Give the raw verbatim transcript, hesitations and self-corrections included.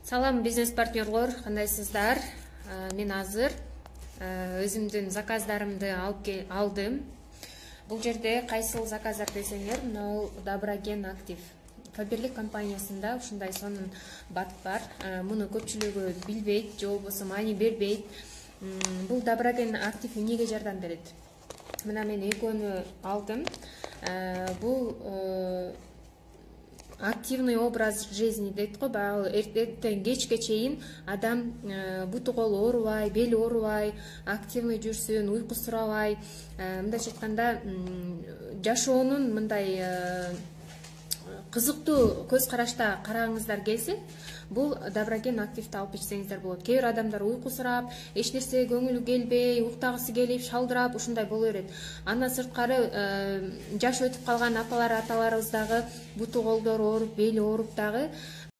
Салам бизнес партнерлор, кандайсыздар? Мен азыр өзүмдүн заказдарымды алып алдым. Бул жерде кайсыл заказдар десеңер, мына Доброген актив Фаберлик компаниясында ушундай сонун бат бар. Муну көпчүлүгү билбейт, же болбосо маани бербейт. Бул Доброген актив эмнеге жардам берет? Мына мен экөөнү алдым. Бул активный образ жизни дейт го, баягы эртең кечке чейин адам буту колу оорубай, бели оорубай, активный жүрсүн, уйкусурабай, мындайча айтканда жашоонун мындай кызыктуу көз карашта карагыңыздар келсе, бул Доброген активди алып ичсеңиздер болот. Кээ бир адамдар уйкусурап, эч нерсе көңүлү келбей, уктагысы келип, шалдырап ушундай боло берет. Андан сырткары жаш өтүп калган апалар, аталарыбыз дагы буту колдору ооруп, бели ооруп дагы